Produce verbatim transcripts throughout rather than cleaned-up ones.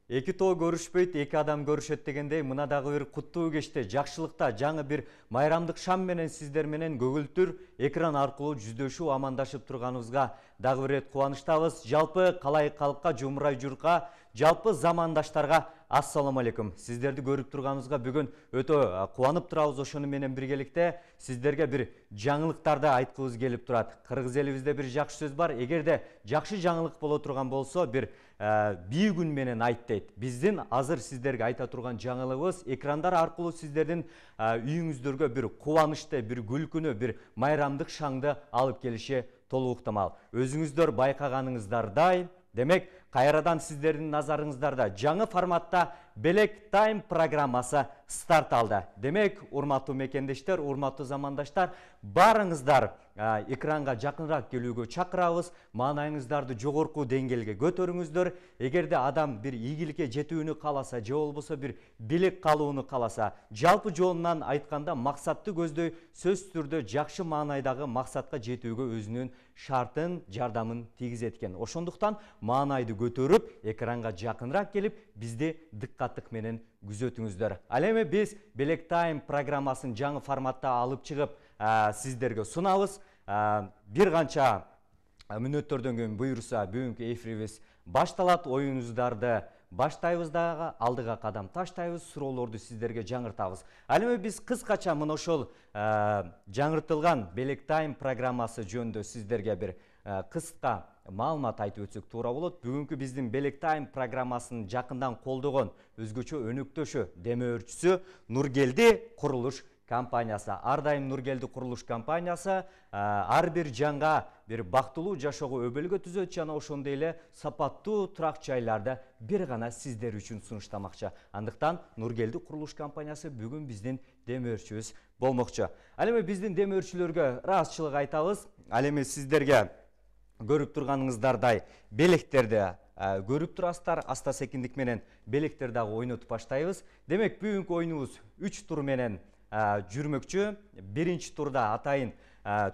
Эки тоо көрүшпөйт, эки адам көрүшөт дегендей, мына дагы бир куттуу кечте, жакшылыкта жаңы бир майрамдык шам менен сиздер менен көгүлтүр экран аркылуу жүздөшүү амандашып турганыбызга дагы бир рет кубанычтабыз. Жалпы калай калкка, жумурай журтка, жалпы замандаштарга ассаламу алейкум. Сиздерди көрүп турганыбызга бүгүн өтө кубанып турабыз. Ошону менен биргеликте сиздерге бир жаңылыктарды айткыбыз келип турат. Кыргыз элибизде бир жакшы сөз бар. Эгерде жакшы жаңылык боло турган болсо, бир бий күн менен айт дейт. Биздин азыр сиздерге айта турган жаңылыгыбыз экрандар аркылуу сиздердин үйүңүздөргө бир кубанычты, бир күлкүнү, бир майрамдык шаңды алып келиши толук ыктымал. Өзүңүздөр байкаганыңыздардай, демек кайрадан сиздердин назарыңыздарда жаңы форматта Белек Тайм программасы старт алды. Демек, урматтуу мекендештер, урматтуу замандаштар, барыңыздар экранга жакыныраак келүүгө чакырабыз. Маанайыңыздарды жогорку деңгээлге көтөрүңүздөр. Эгерде адам бир ийгиликке жетүүнү кааласа, же болбосо бир белек калууну кааласа, жалпы жоонунан айтканда максатты көздөй, сөзсүз түрдө жакшы маанайдагы максатка жетүүгө өзүнүн шартын, жардамын тийгизет экен. Ошондуктан маанайды көтөрүп, экранга жакыныраак келип, бизди дыккаттык менен күзөтүңүздөр. Ал эми биз Белек Тайм программасын жаңы форматта алып чыгып, сиздерге сунабыз. Бир канча мүнөттөрдөн кийин буюрса, бүгүнкү эфирибиз башталат. Оюнуңуздарды баштайбыз дагы, алдыга кадам таштайбыз, суроолорду сиздерге жаңыртабыз. Ал эми биз кыскача мына ошол жаңыртылган Белек Тайм программасы жөнүндө сиздерге бир кыска маалымат айтып өтсөк туура болот. Бүгүнкү биздин Белек Тайм программасын жакындан колдогон өзгөчө өнөктөшү, демөөрчүсү Нургелди курулуш компаниясы. Ар дайым Нургелди курулуш компаниясы ар бир жанга бир бактылуу жашоого өбөлгө түзөт жана ошондой эле сапаттуу турак жайларды бир гана сиздер үчүн сунуштамакчы. Андыктан Нургелди курулуш компаниясы бүгүн биздин демөөрчүбүз болмокчу. Ал эми биздин демөөрчүлөргө ыраазычылык айтабыз. Ал эми сиздерге көрүп турганыңыздардай белектерди көрүп турасыздар. Аста секиндик менен белектер дагы ойнотуп баштайбыз. Демек, бүгүнкү оюнубуз үч тур менен жүрмөкчү. Биринчи турда атайын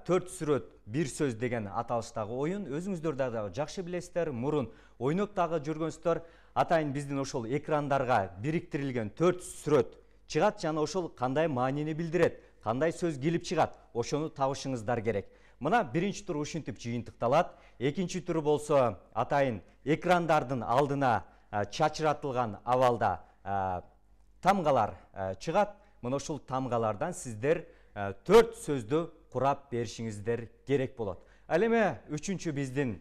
төрт сүрөт бир сөз деген аталыштагы оюн. Өзүңүздөр дагы жакшы билесиздер, мурун ойноп дагы жүргөнсүздөр. Атайын биздин ошол экрандарга бириктирилген төрт сүрөт чыгат жана ошол кандай маанини билдирет, кандай сөз келип чыгат, ошону табышыңыздар керек. Мына биринчи тур ушинтип жыйынтыкталат. Экинчи тур болсо атайын экрандардын алдына чачыратылган абалда тамгалар чыгат. Мына ушул тамгалардан сиздер төрт сөздү курап беришиңиздер керек болот. Ал эми үчүнчү биздин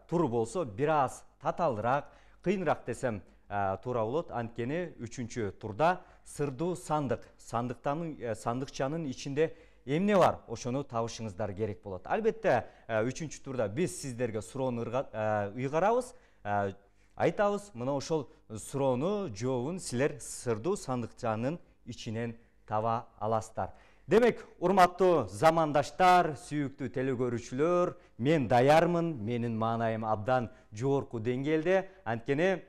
тур болсо бир аз татаалыраак, кыйыныраак десем туура болот. Анткени үчүнчү турда сырдуу сандык, сандыкчанын ичинде эмне бар, ошону табышыңыздар керек болот. Албетте, үчүнчү турда биз сиздерге суроону ыйгарабыз, айтабыз, мына ошол суроону жообун силер сырдуу сандыкчанын ичинен таба аласыздар. Демек, урматтуу замандаштар, сүйүктүү телекөрүүчүлөр, мен даярмын, менин маанайым абдан жогорку деңгээлде. Анткени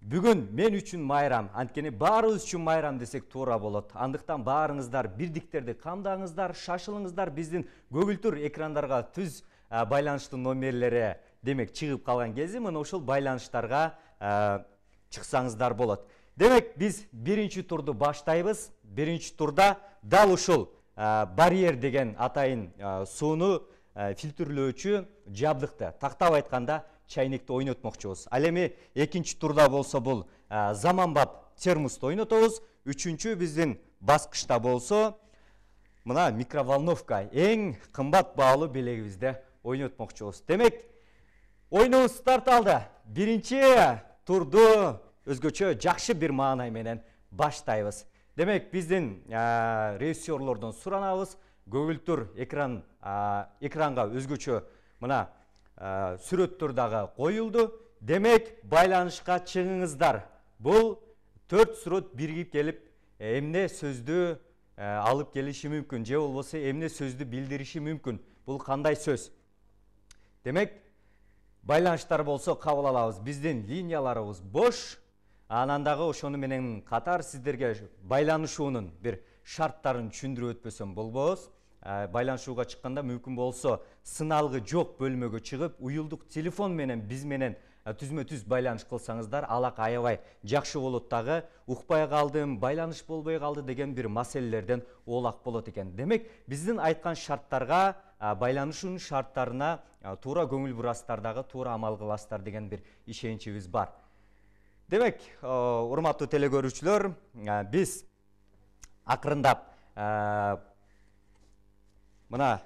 бүгүн мен үчүн майрам, анткени баарыбыз үчүн майрам десек туура болот. Андыктан баарыңыздар бирдиктерди камдаңыздар, шашылыңыздар. Биздин көгүлтүр экрандарга түз байланыштын номерлери демек чыгып калган кези мына ошол байланыштарга чыксаңыздар болот. Демек, биз биринчи турду баштайбыз. Биринчи турда дал ушул барьер деген атайын сууну фильтрлөөчү жабдыкты, тактап айтканда чайникти ойнотмокчубуз. Ал эми экинчи турда болсо бул заманбап термосту ойнотобуз. Үчүнчү биздин баскычта болсо мына микроволновка, эң кымбат баалуу белегибизди ойнотмокчубуз. Демек, оюнубуз старт алды. Биринчи турду өзгөчө жакшы бир маанай менен баштайбыз. Демек, биздин режиссерлордон суранабыз, көгүлтүр экран экранга өзгөчө мына сүрөттөр дагы коюлду. Демек, байланышка чыгыңыздар. Бул төрт сүрөт биригип келип, эмне сөздү алып келиши мүмкүн, же болбосо эмне сөздү билдириши мүмкүн. Бул кандай сөз? Демек, байланыштар болсо кабыл алабыз. Биздин линияларыбыз бош. Анан дагы ошону менен катар сиздерге байланышуунун бир шарттарын түшүндүрүп өтпөсөм болбоз. Байланышууга чыкканда мүмкүн болсо сыналгы жок бөлмөгө чыгып, уюлдук телефон менен биз менен түзмө түз байланыш кылсаңыздар алак аябай жакшы болот дагы. Укпай калдым, байланыш болбой калды деген бир маселелерден оолак болот экен. Демек, биздин айткан шарттарга, байланышуунун шарттарына туура көңүл бурасыздар дагы, туура амал кыласыздар деген бир ишеничибиз бар. Демек, урматтуу телекөрүүчүлөр, биз акырындап мына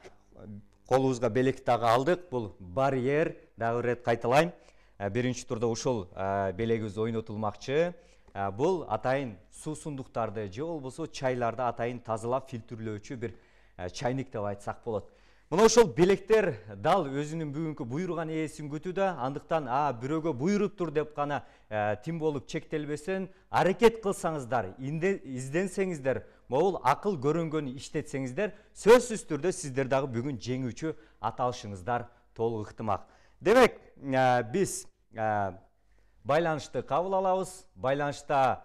колубузга белек дагы алдык. Бул барьер, дагы бир рет кайталайм. Биринчи турда ушул белегибиз ойнотулмакчы. Бул атайын суусундуктарды же болбосо чайларды атайын тазалап фильтрлөөчү бир чайник деп айтсак болот. Мына ошол белектер дал өзүнүн бүгүнкү буйруган ээсин күтүүдө, андыктан а бирөөгө буйруптур деп гана тим болуп чектелбесен, аракет кылсаңыздар, изденсеңиздер, могул акыл көрөнгөнү иштетсеңиздер, сөзсүз түрдө сиздер дагы бүгүн жеңүүчү ата алышыңыздар толук ыктымак. Демек, биз байланышты кабыл алабыз. Байланышта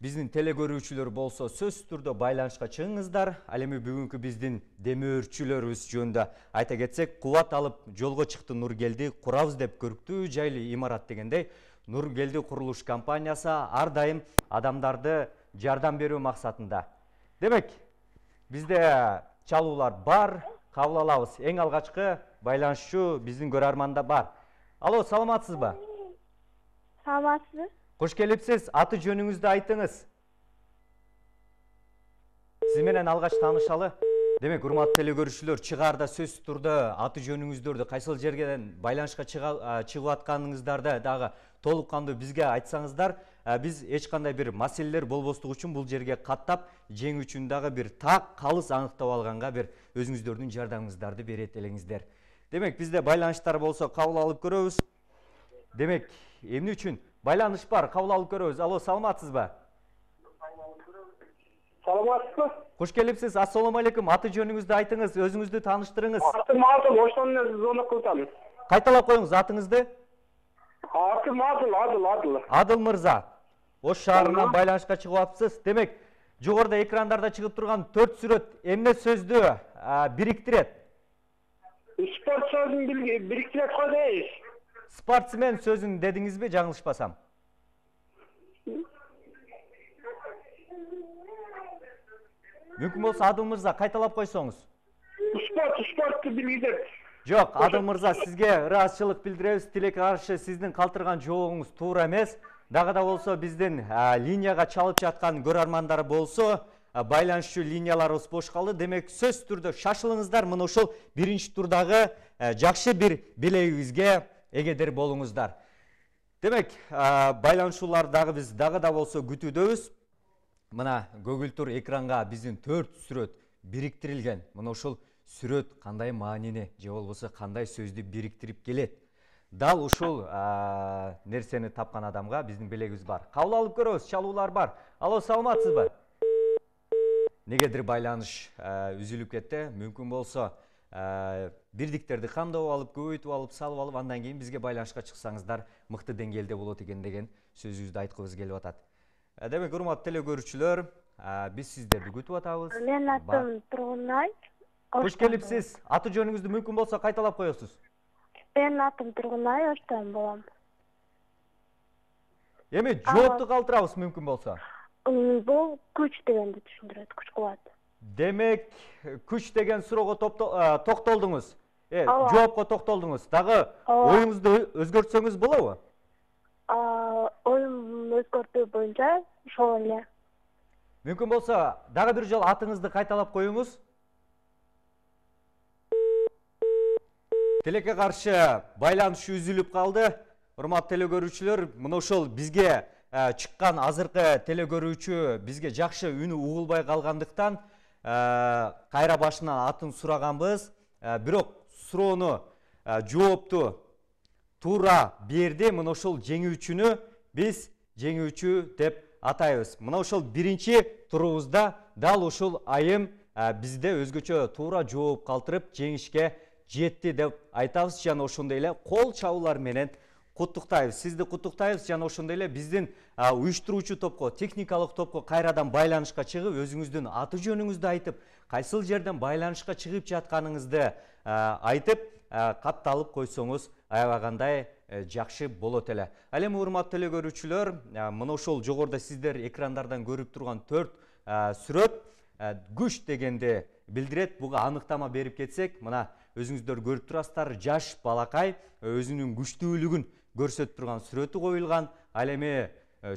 биздин телекөрүүчүлөр болсо сөзсүз түрдө байланышка чыгыңыздар. Ал эми бүгүнкү биздин демөөрчүлөрүбүз жөнүндө айта кетсек, кубат алып жолго чыкты Нургелди курабыз деп көрктүү жайлы имарат дегендей, Нургелди курулуш компаниясы ар дайым адамдарды жардам берүү максатында. Демек, бизде чалуулар бар, кабыл алабыз. Эң алгачкы байланышчу биздин көрөрманда бар. Алло, саламатсызбы? Саламатсызбы? Кош келипсиз. Аты жөнүңүздү айтыңыз. Сиз менен алгач таанышалы. Демек, урматтуу телекөрүүчүлөр, чыгаарда сөзсүз түрдө аты жөнүңүздөрдү, кайсыл жерден байланышка чыгып атканыңыздарды дагы толук кандуу бизге айтсаңыздар, биз эч кандай бир маселелер болбостугу үчүн бул жерге каттап, жеңүү үчүн дагы бир так калыс аныктап алганга бир өзүңүздөрдүн жардамыңыздарды берет элеңиздер. Демек, бизде байланыштар болсо кабыл алып көрөбүз. Демек, эмне үчүн байланыш бар, кабыл алып көрөбүз. Алло, саламатсызбы? Саламатсызбы? Кош келипсиз. Ассаламу алейкум. Аты жөнүңүздү айтыңыз, өзүңүздү тааныштырыңыз. Атым Адыл, ошондон эле звонок кылсам. Кайталап коюңуз атыңызды. Атым Адыл, Адыл, Адыл. Адыл мырза. Ош шаарынан байланышка чыгып атыпсыз. Демек, жогоруда экрандарда чыгып турган төрт сүрөт эмне сөздү бириктирет? Спорт сөзүн бириктирет го дейсиз. Спортсмен сөзүн дедиңизби, жаңылышпасам? Мүмкүн болсо Адыл мырза кайталап койсоңуз. Спорт, спортту билгизет. Жок, Адыл мырза, сизге ыраазычылык билдиребиз. Тилекке каршы сиздин калтырган жообуңуз туура эмес. Дагы да болсо биздин линияга чалып жаткан көрөрмандар болсо, байланышчу линияларыбыз бош калды. Демек, сөзсүз түрдө шашылыңыздар. Мына ошол биринчи турдагы жакшы бир белегибизге эгедер болуңуздар. Демек, байланышуулар дагы биз дагы да болсо күтүүдөбүз. Мына көгүлтүр экранга биздин төрт сүрөт бириктирилген. Мына ошол сүрөт кандай маанини же болбосо кандай сөздү бириктирип келет. Дал ушул нерсени тапкан адамга биздин белегибиз бар. Кабыл алып көрөбүз, чалуулар бар. Алло, саламатсызбы? Негедир байланыш үзүлүп кетти. Мүмкүн болсо бирдиктерди камдап алып, көбөйтүп алып, салып алып, андан кийин бизге байланышка чыксаңыздар мыкты деңгээлде болот экен деген сөзүбүздү айткыбыз келип атат. Демек, урматтуу телекөрүүчүлөр, биз сиздерди күтүп атабыз. Менин атым Тургунай. Кош келипсиз. Аты жөнүңүздү мүмкүн болсо кайталап коесуз. Менин атым Тургунай, Оштон болом. Эми жоопту калтырабыз мүмкүн болсо. Бул күч дегенди түшүндүрөт, күч кубат. Демек, күч деген суроого токтолдуңуз. Э, жоопко токтолдуңуз. Дагы оюңузду өзгөртсөңүз болобу? Оюм өзгөртүү боюнча ошол эле. Мүмкүн болсо дагы бир жолу атыңызды кайталап коюңуз. Тилекке каршы байланыш үзүлүп калды. Урматтуу телекөрүүчүлөр, мына ошол бизге чыккан азыркы телекөрүүчү бизге жакшы үнү угулбай калгандыктан кайра башынан атын сураганбыз. Бирок суроону, жоопту туура берди. Мына ошол жеңүүчүнү биз жеңүүчү деп атайбыз. Мына ошол биринчи турубузда дал ушул айым бизде өзгөчө туура жооп калтырып жеңишке жетти деп айтабыз. Жана ошондой эле кол чабуулар менен куттуктайбыз. Сизди куттуктайбыз. Жана ошондой эле биздин уюштуруучу топко, техникалык топко кайрадан байланышка чыгып, өзүңүздүн аты жөнүңүздү айтып, кайсыл жерден байланышка чыгып жатканыңызды айтып, катталып койсоңуз аябагандай жакшы болот эле. Ал эми урматтуу эле көрүүчүлөр, мына ошол жогоруда сиздер экрандардан көрүп турган төрт сүрөт күч дегенди билдирет. Буга аныктама берип кетсек, мына өзүңүздөр көрүп турасыздар, жаш балакай өзүнүн күчтүүлүгүн көрсөтүп турган сүрөтү коюлган. Ал эми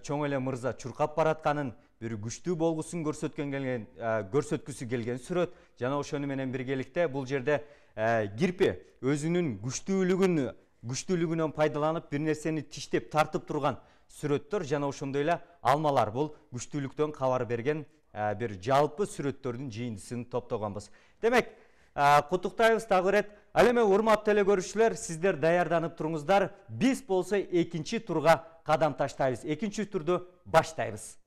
чоң эле мырза чуркап баратканын, бир күчтүү болгусун көрсөткөн келген, көрсөткүсү келген сүрөт. Жана ошону менен биргеликте бул жерде кирпи өзүнүн күчтүүлүгүн күчтүүлүгүнөн пайдаланып бир нерсени тиштеп тартып турган сүрөттөр. Жана ошондой эле алмалар, бул күчтүүлүктөн кабар берген бир жалпы сүрөттөрдүн жыйындысын топтогонбуз. Демек, куттуктайбыз дагы бир ирет. Ал эми урматтуу эле көрүүчүлөр, сиздер даярданып туруңуздар. Биз болсо экинчи турга кадам таштайбыз. Экинчи турду баштайбыз.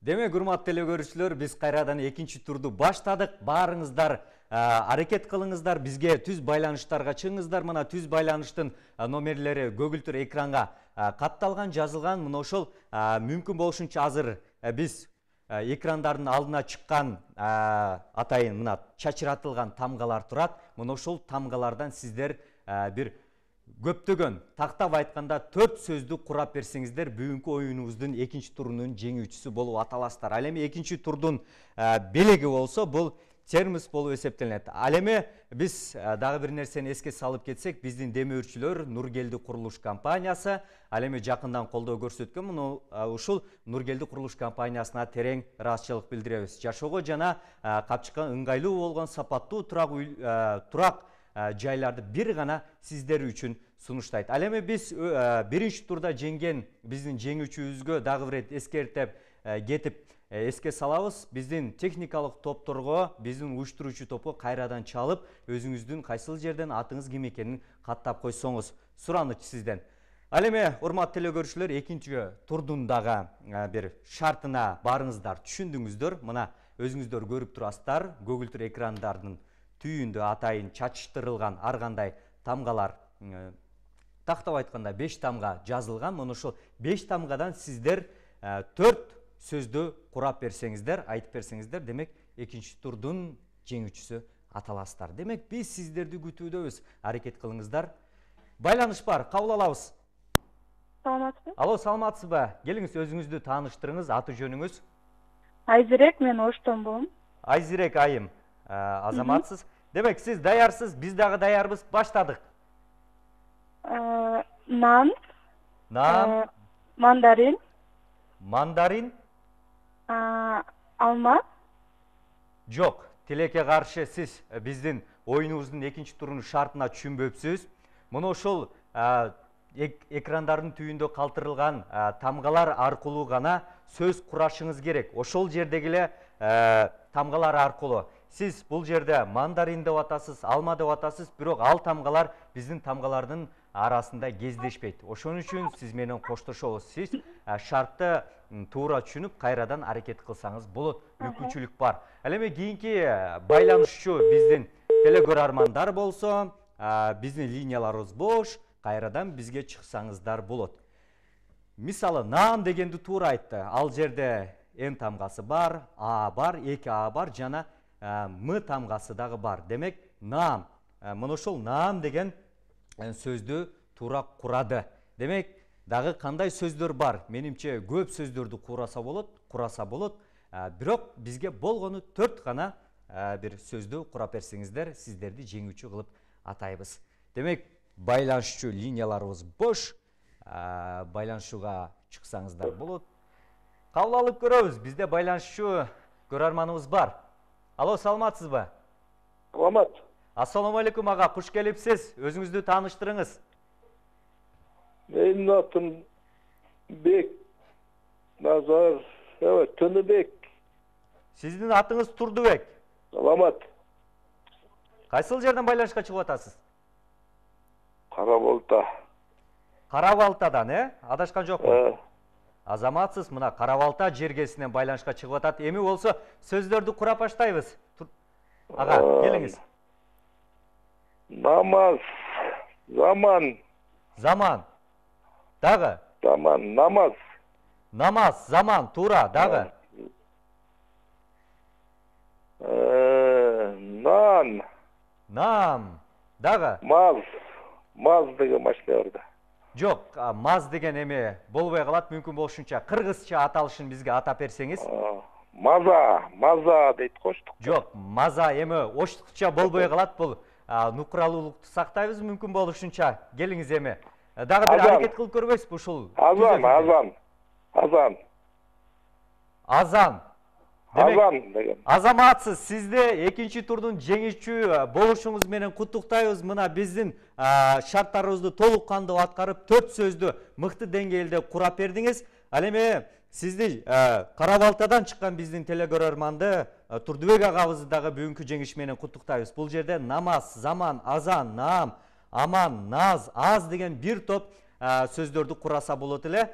Демек, урматтуу эле көрүүчүлөр, биз кайрадан экинчи турду баштадык. Баарыңыздар аракет кылыңыздар, бизге түз байланыштарга чыгыңыздар. Мына түз байланыштын номерлери көгүлтүр экранга катталган, жазылган. Мына ошол мүмкүн болушунча азыр биз экрандардын алдына чыккан атайын мына чачыратылган тамгалар турат. Мына ошол тамгалардан сиздер бир көптөгөн, тактап айтканда төрт сөздү курап берсеңиздер, бүгүнкү оюнубуздун экинчи турунун жеңүүчүсү болуп аталасыздар. Ал эми экинчи турдун белеги болсо, бул термос болуп эсептелет. Ал эми биз дагы бир нерсени эске салып кетсек, биздин демөөрчүлөр Нургелди курулуш компаниясы ал эми жакындан колдоо көрсөткөн. Муну ушул Нургелди курулуш компаниясына терең ыраазычылык билдиребиз. Жашоого жана капчыкка ыңгайлуу болгон сапаттуу турак турак жайларды бир гана сиздер үчүн сунуштайт. Ал эми биз биринчи турда жеңген биздин жеңүүчүбүзгө дагы бир эскертип кетип эске салабыз. Биздин техникалык топторго, биздин уюштуруучу топко кайрадан чалып, өзүңүздүн кайсыл жерден атыңыз ким экенин каттап койсоңуз сураныч сизден. Ал эми урматтуу эле көрүүчүлөр, экинчи турдун дагы бир шартына барыңыздар, түшүндүңүздөр. Мына өзүңүздөр көрүп турасыздар, көгүлтүр экрандардын түйүндө атайын чачыштырылган ар кандай тамгалар, тактап айтканда беш тамга жазылган. Мына ошол беш тамгадан сиздер төрт сөздү курап берсеңиздер, айтып берсеңиздер, демек экинчи турдун жеңүүчүсү аталасыздар. Демек, биз сиздерди күтүүдөбүз. Аракет кылыңыздар. Байланыш бар, кабыл алабыз. Саламатсызбы? Алло, саламатсызбы? Келиңиз, өзүңүздү тааныштырыңыз, аты жөнүңүз? Айзирек, мен Оштонбун. Айзирек айым, азаматсыз. Демек, сиз даярсыз, биз дагы даярбыз, баштадык. Нан. Нан. Мандарин. Мандарин. Алма. Жок, тилекке каршы, сиз биздин оюнубуздун экинчи турунун шартына түшүнбөпсүз. Мына ошол экрандардын түйүндө калтырылган тамгалар аркылуу гана сөз курашыңыз керек. Ошол жердеги эле тамгалар аркылуу. Сиз бул жерде мандарин деп атасыз, алма деп атасыз, бирок ал тамгалар биздин тамгалардын арасында кездешпейт. Ошон үчүн сиз менен коштошобуз. Сиз шартты туура түшүнүп, кайрадан аракет кылсаңыз болот. Мүмкүнчүлүк бар. Ал эми кийинки байланышчу биздин телекөрөрмандар болсо, биздин линияларыбыз бош, кайрадан бизге чыксаңыздар болот. Мисалы, нан дегенди туура айтты. Ал жерде Н тамгасы бар, А бар, эки А бар, жана М тамгасы дагы бар. Демек, наам. Мына ошол наам деген сөздү туура курады. Демек, дагы кандай сөздөр бар? Менимче көп сөздөрдү кураса болот, кураса болот. Бирок бизге болгону төрт гана бир сөздү курап берсеңиздер, сиздерди жеңүүчү кылып атайбыз. Демек, байланышчу линияларыбыз бош. Байланышууга чыксаңыздар болот. Кабыл алып көрөбүз. Бизде байланышчу көрөрманыбыз бар. Алло, саламатсызбы? Саламат. Ассаламу алейкум ага, куш келипсиз. Өзүңүздү тааныштырыңыз. Менин атым Бек Назар, Төнөбек. Сиздин атыңыз Турдубек. Саламат. Кайсыл жерден байланышка чыгып атасыз? Карабалта. Карабалтадан, э? Адашкан жокмун? Э. Азаматсыз, мына Карабалта жергесинен байланышка чыгып атат. Эми болсо сөздөрдү курап баштайбыз. Ага, келиңиз. Намаз, заман. Заман. Дагы? Заман, намаз. Намаз, заман, туура, дагы? Нан. Нам, дагы? Маз. Маз деген машина бар да. Жок, маз деген эме болбой калат, мүмкүн болушунча кыргызча аталышын бизге атап берсеңиз. Маза, маза дейт коштук. Жок, маза эми оштукча болбой калат, бул нукралуулукту сактайбыз, мүмкүн болушунча. Келиңиз эми. Дагы бир аракет кылып көрбөйсүзбү ушул? Азан, азан. Азан. Азан. Азан деген. Азаматсыз, сизде экинчи турдун жеңүүчү болушуңуз менен куттуктайбыз. Мына биздин шарттарыбызды толук кандуу аткарып, төрт сөздү мыкты деңгээлде курап бердиңиз. Ал эми сизди Кара Балтадан чыккан биздин телекөрөрманды Турдубек агабызды дагы бүгүнкү жеңиш менен куттуктайбыз. Бул жерде намаз, заман, азан, наам, аман, наз, аз деген бир топ сөздөрдү кураса болот эле.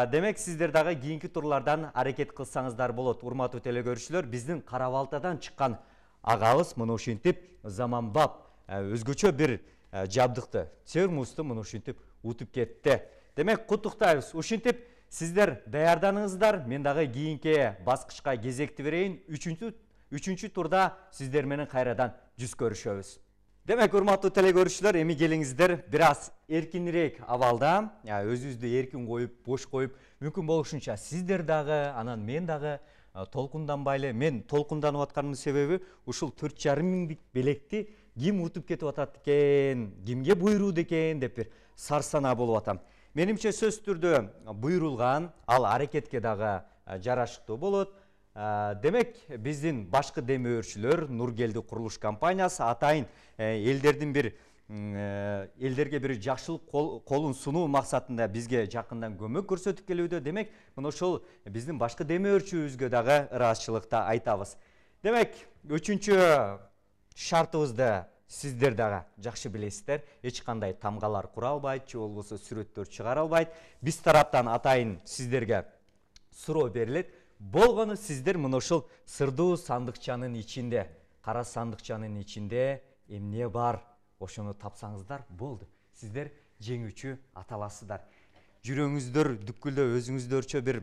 Демек сиздер дагы кийинки турлардан аракет кылсаңыздар болот. Урматтуу телекөрүүчүлөр, биздин Кара Балтадан чыккан агабыз мына ушинтип заманбап өзгөчө бир жабдыкты, термусту мына ушинтип утуп кетти. Демек куттуктайбыз. Ушинтип сиздер даярданыңыздар. Мен дагы кийинки баскычка кезекти берейин. Үчүнчү үчүнчү турда сиздер менен кайрадан жүз көрүшөбүз. Демек, урматтуу телекөрүүчүлөр, эми келиңиздер бир аз эркинирээк абалда, өзүбүздү эркин коюп, бош коюп, мүмкүн болушунча сиздер дагы, анан мен дагы толкунданбай эле. Мен толкунданып атканымдын себеби ушул төрт жарым миңдик белекти ким утуп кетип атат экен, кимге буйрууду экен деп бир сарсанаа болуп атам. Менимче сөзсүз түрдө буйрулган, ал аракетке дагы жарашыктуу болот. Демек, биздин башкы демөөрчүлөр Нургелди курулуш компаниясы атайын элдердин бир элдерге бир жакшылык колун сунуу максатында бизге жакындан көмөк көрсөтүп келүүдө. Демек, мына ошол биздин башкы демөөрчүбүзгө дагы ыраазычылыкты айтабыз. Демек, үчүнчү шартыбызды сиздер дагы жакшы билесиздер. Эч кандай тамгалар кура албайт, же болбосо сүрөттөр чыгара албайт. Биз тараптан атайын сиздерге суроо берилет. Болгону сиздер мына ушул сырдуу сандыкчанын ичинде, кара сандыкчанын ичинде эмне бар? Ошону тапсаңыздар болду. Сиздер жеңүүчү аталасыздар. Жүрөгүңүздөр дүпкүлдөп, өзүңүздөрчө бир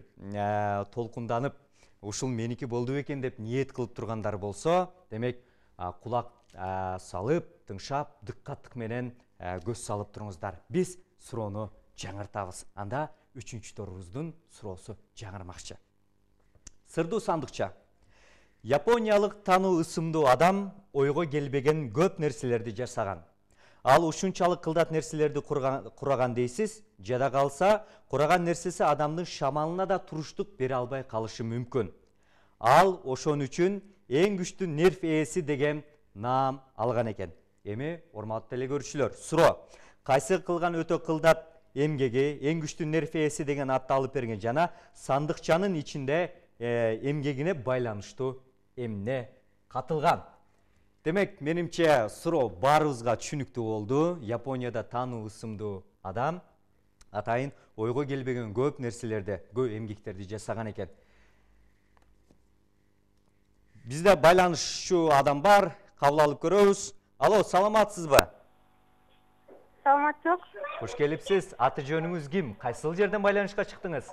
толкунданып, ушул меники болду экен деп ниет кылып тургандар болсо, демек кулак салып, тыңшап, дыккаттык менен көз салып туруңуздар. Биз суроону жаңыртабыз. Анда үчүнчү турубуздун суроосу жаңырмакчы. Сырдуу сандыкча. Япониялык тануу ысымдуу адам ойго келбеген көп нерселерди жасаган. Ал ушунчалык кылдат нерселерди кураган дейсиз, жада калса, кураган нерсеси адамдын шамалына да туруштук бере албай калышы мүмкүн. Ал ошон үчүн эң күчтүү нерв ээси деген наам алган экен. Эми, урматтуу телекөрүүчүлөр, суроо. Кайсы кылган өтө кылдат эмгеги эң күчтүү нерв ээси деген атты алып берген жана сандыкчанын ичинде эмгегине байланыштуу эмне катылган? Демек, менимче суроо баарыбызга түшүнүктүү болду. Японияда тануу ысымдуу адам атайын ойго келбеген көп нерселерди, көп эмгектерди жасаган экен. Бизде байланышчу адам бар, кабыл алып көрөбүз. Алло, саламатсызбы? Саламатсыз. Кош келипсиз. Аты жөнүңүз ким? Кайсыл жерден байланышка чыктыңыз?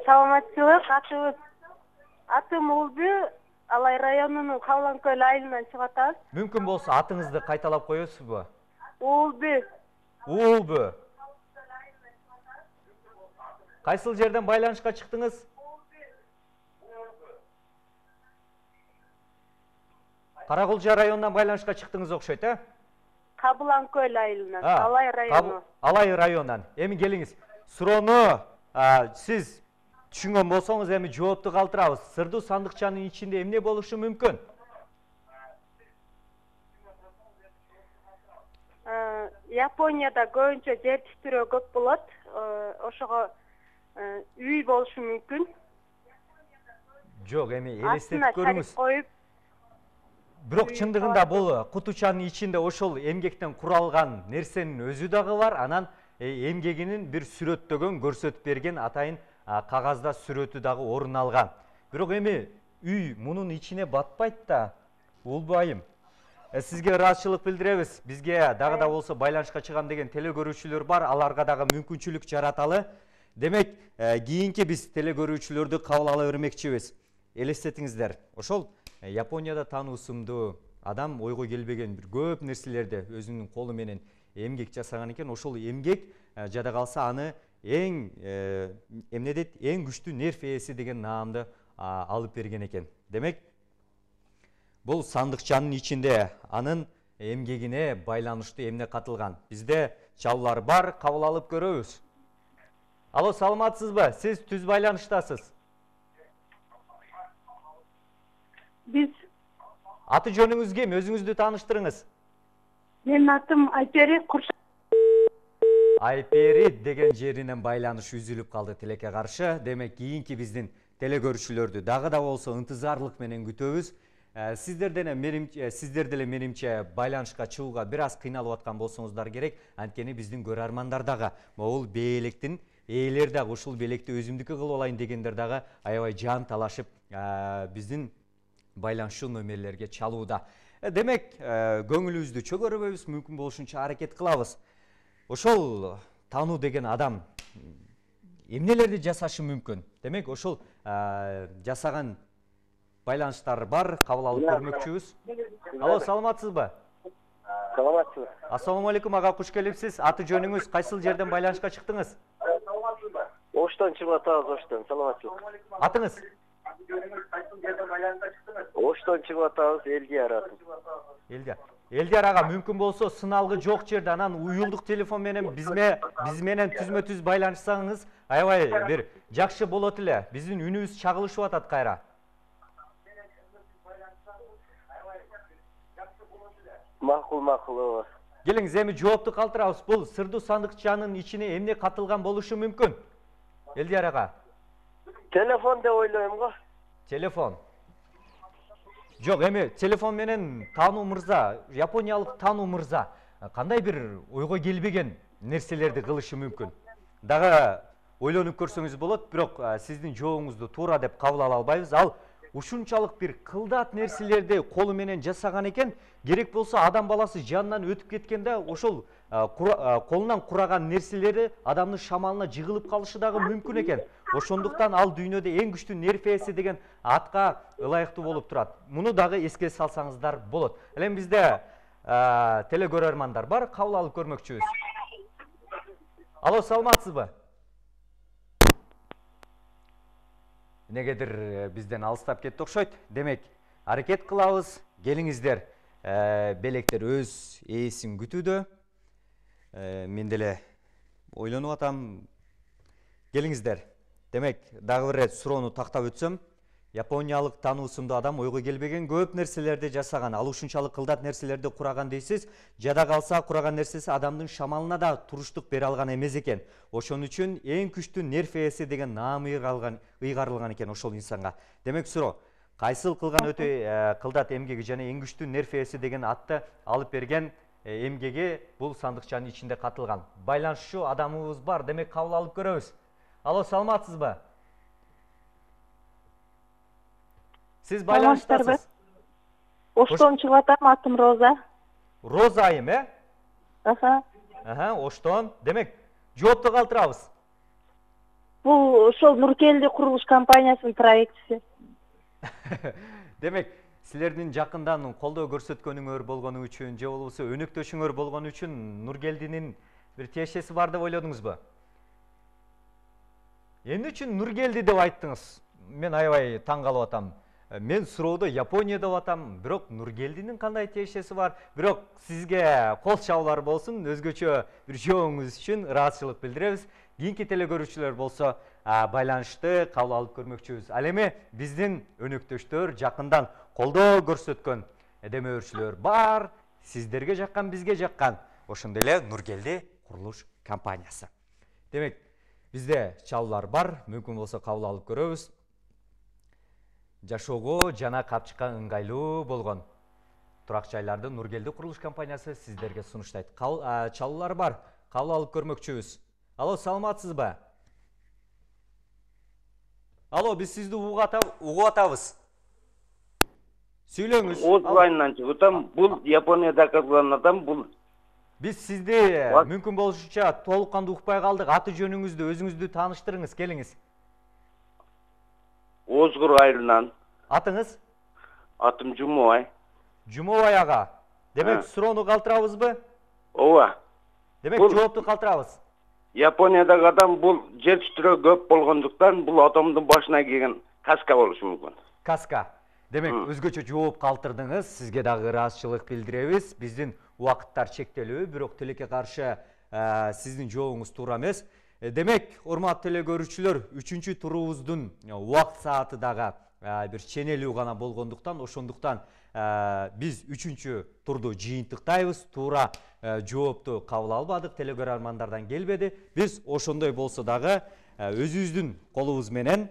Саламатсызбы, атыбыз. Атым Улбү, Алай районунун Кабыланкөл айылынан чыгып атабыз. Мүмкүн болсо атыңызды кайталап коесузбу? Улбү. Улбү. Кайсыл жерден байланышка чыктыңыз? Каракулжа районунан байланышка чыктыңыз окшойт, э? Кабыланкөл айылынан, Алай району. Алай районунан. Эми келиңиз. Суроону сиз түшүнгөн болсоңуз эми жоопту калтырабыз. Сырдуу сандыкчанын ичинде эмне болушу мүмкүн? Японияда көбүнчө жер тиштирөө көп болот. Ошого үй болушу мүмкүн. Жок, эми элестетип көрүңүз. Коюп. Бирок чындыгында бул кутучанын ичинде ошол эмгектен куралган нерсенин өзү дагы бар. Анан эмгегинин бир сүрөттөгөн, көрсөтүп берген атайын кагазда сүрөтү дагы орун алган. Бирок эми үй мунун ичине батпайт да. Улбайым. Сизге ыраазычылык билдиребиз. Бизге дагы да болсо байланышка чыгам деген телекөрүүчүлөр бар. Аларга дагы мүмкүнчүлүк жараталы. Демек, кийинки биз телекөрүүчүлөрдү кабыл ала бермекчибиз. Элестетиңиздер. Ошол Японияда тануу ысымдуу адам ойго келбеген бир көп нерселерди өзүнүн колу менен эмгек жасаган экен. Ошол эмгек жада калса аны эң эмне дейт, эң күчтүү нерв ээси деген наамды алып берген экен. Демек, бул сандыкчанын ичинде анын эмгегине байланыштуу эмне катылган. Бизде чалуулар бар, кабыл алып көрөбүз. Алло, саламатсызбы? Сиз түз байланыштасыз. Биз Аты жөнүңүз ким? Өзүңүздү тааныштырыңыз. Менин атым Айпери Курш. Айпери деген жеринен байланыш үзүлүп калды тилекке каршы. Демек, кийинки биздин теле көрүүчүлөрдү дагы да болсо ынтызарлык менен күтөбүз. Сиздер деле менимче байланышка чыгууга бир аз кыйналып аткан болсоңуздар керек. Анткени биздин көрөрмандар дагы могул бээликтин ээлери дагы ушул белекти өзүмдүкү кылып алайын дегендер дагы аябай жан талашып биздин байланышчу номерлерге чалууда. Демек, көңүлүбүздү чөгөрбөйбүз, мүмкүн болушунча аракет кылабыз. Ошол таануу деген адам эмнелерди жасашы мүмкүн? Демек, ошол жасаган байланыштар бар, кабыл алып көрмөкчүбүз. Алло, саламатсызбы? Саламатсызбы? Ассаламу алейкум, ага, куш келипсиз. Аты жөнүңүз, кайсыл жерден байланышка чыктыңыз? Оштон чыгып атабыз, Оштон. Саламатсызбы? Атыңыз? Оштон чыгып атабыз, Элдияр атым. Элдияр. Элдияр ага, мүмкүн болсо сыналгы жок жерде анан уюлдук телефон менен бизме биз менен түзмө-түз байланышсаңыз, аябай бир жакшы болот эле. Биздин үнүбүз чагылышып атат кайра. Макул, макул. Келиңиз, эми жоопту калтырабыз. Бул сырдуу сандыкчанын ичине эмне катылган болушу мүмкүн? Элдияр ага. Телефон деп ойлойм го. Телефон. Жок, эми телефон менен таануу мырза, япониялык таануу мырза кандай бир ойго келбеген нерселерди кылышы мүмкүн? Дагы ойлонуп көрсөңүз болот, бирок сиздин жообуңузду туура деп кабыл ала албайбыз. Ал ушунчалык бир кылдат нерселерди колу менен жасаган экен, керек болсо адам баласы жанынан өтүп кеткенде ошол колунан кураган нерселери адамдын шамалына жыгылып калышы дагы мүмкүн экен. Ошондуктан ал дүйнөдө эң күчтүү нерв ээси деген атка ылайыктуу болуп турат. Муну дагы эске салсаңыздар болот. Элем бизде теле көрөрмандар бар, кабыл алып көрмөкчүбүз. Алло, саламатсызбы? Негедир бизден алыстап кетти окшойт. Демек, аракет кылабыз. Келиңиздер, белектер өз ээсин күтүүдө. Мен деле ойлонуп атам. Келиңиздер. Демек, дагы бир рет суроону тактап өтсөм, япониялык таануусундуу адам ойго келбеген көп нерселерди жасаган, ал ушунчалык кылдат нерселерди кураган дейсиз. Жада калса кураган нерсеси адамдын шамалына да туруштук бере алган эмес экен. Ошон үчүн эң күчтүү нерв ээси деген наам ыйгарылган экен ошол инсанга. Демек, суроо, кайсыл кылган өтө кылдат эмгеги жана эң күчтүү нерв ээси деген атты алып берген эмгеги бул сандыкчанын ичинде катылган. Байланышчу адамыбыз бар, демек кабыл алып көрөбүз. Алло, саламатсызбы? Сиз байланыштасыз? Оштон чыгып атам, атым Роза. Роза айым, э? Аха. Аха, Оштон. Демек, жоопту калтырабыз. Бул ошол Нуркелди курулуш компаниясынын проектиси. Демек, силердин жакындан колдоо көрсөткөнүңөр болгону үчүн, же болбосо өнөктөшүңөр болгону үчүн Нуркелдинин бир тиешеси бар деп ойлодуңузбу? Эмне үчүн Нуркелди деп айттыңыз? Мен аябай таң калып атам. Мен суроодо Япония деп атам, бирок Нуркелдинин кандай тиешеси бар? Бирок сизге кол чабуулар болсун, өзгөчө бир жообуңуз үчүн ыраазычылык билдиребиз. Кийинки теле көрүүчүлөр болсо байланышты кабыл алып көрмөкчүбүз. Ал эми биздин өнөктөштөр, жакындан колдоо көрсөткөн демөөрчүлөр бар. Сиздерге жаккан, бизге жаккан. Ошондой эле Нуркелди курулуш компаниясы. Демек, бизде чалуулар бар, мүмкүн болсо кабыл алып көрөбүз. Жашоого жана капчыкка ыңгайлуу болгон турак жайларды Нуркелди курулуш компаниясы сиздерге сунуштайт. Чалуулар бар, кабыл алып көрмөкчүбүз. Алло, саламатсызбы? Алло, биз сизди угуп атабыз. Сүйлөңүз. Оз районунан чыгып атам. Бул Японияда кыргызган адам, бул. Биз сизди мүмкүн болушунча толук кандуу укпай калдык. Аты жөнүңүздү, өзүңүздү тааныштырыңыз, келиңиз. Озгур айылынан. Атыңыз? Атым Жумобай. Жумобай ага. Демек, суроону калтырабызбы? Ооба. Демек, жоопту калтырабыз. Япониядагы адам бул жер үстүрө көп болгондуктан бул атомдун башына кийген каска болушу мүмкүн. Каска. Демек, өзгөчө жооп калтырдыңыз. Сизге дагы ыраазычылык билдиребиз. Биздин убакыттар чектелүү, бирок тилекке каршы сиздин жообуңуз туура эмес. Демек, урматтуу эле көрүүчүлөр, үчүнчү турубуздун убакыт сааты дагы бир ченелүү гана болгондуктан, ошондуктан биз үчүнчү турду жыйынтыктайбыз. Туура жоопту кабыл албадык, телекөрөрмандардан келбеди. Биз ошондой болсо дагы өзүбүздүн колубуз менен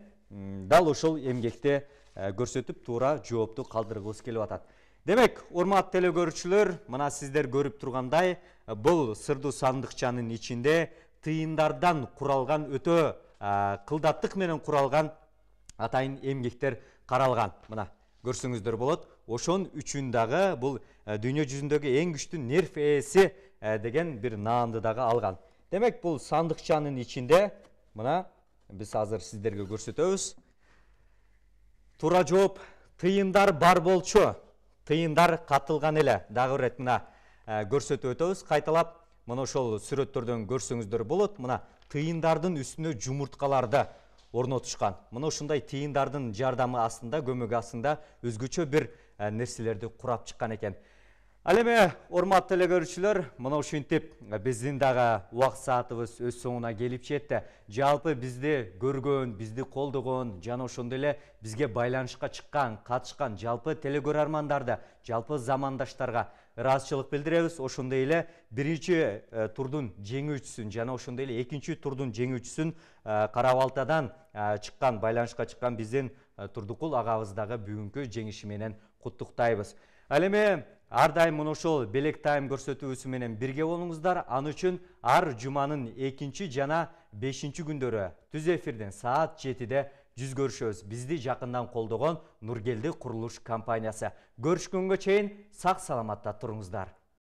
дал ошол эмгекти көрсөтүп туура жоопту калтыргыбыз келип атат. Демек, урматтуу телекөрүүчүлөр, мына сиздер көрүп тургандай, бул сырдуу сандыкчанын ичинде тыйындардан куралган өтө кылдаттык менен куралган атайын эмгектер каралган. Мына көрсөңүздөр болот. Ошон үчүн дагы бул дүйнө жүзүндөгү эң күчтүү нерв ээси деген бир наамды дагы алган. Демек, бул сандыкчанын ичинде мына биз азыр сиздерге көрсөтөбүз. Туура жооп: тыйындар бар болчу. Тыйындар катылган эле. Дагы бир мына көрсөтүп өтөбүз. Кайталап, мына ошол сүрөттөрдөн көрсөңүздөр болот. Мына тыйындардын үстүнө жумурткаларды орнотушкан. Мына ушундай тыйындардын жардамы астында, көмөгү астында өзгөчө бир нерселерди курап чыккан экен. Ал эми, урматтуу эле көрүүчүлөр, мына ушинтип биздин дагы убакыт саатыбыз өз соңуна келип жетти. Жалпы бизди көргөн, бизди колдогон, жана ошондой эле бизге байланышка чыккан, катышкан жалпы телекөрөрмандарды, жалпы замандаштарга ыраазычылык билдиребиз. Ошондой эле биринчи турдун жеңүүчүсүн жана ошондой эле экинчи турдун жеңүүчүсүн Кара Балтадан чыккан, байланышка чыккан биздин Турдукул агабыз дагы бүгүнкү жеңиши менен куттуктайбыз. Ал эми ар дайым мына ошол белек тайм көрсөтүүсү менен бирге болуңуздар. Аны үчүн ар жуманын экинчи жана бешинчи күндөрү түз эфирден саат жетиде жүз көрүшөбүз. Бизди жакындан колдогон Нургелди курулуш компаниясы. Көрүшкөнгө чейин сак саламатта туруңуздар.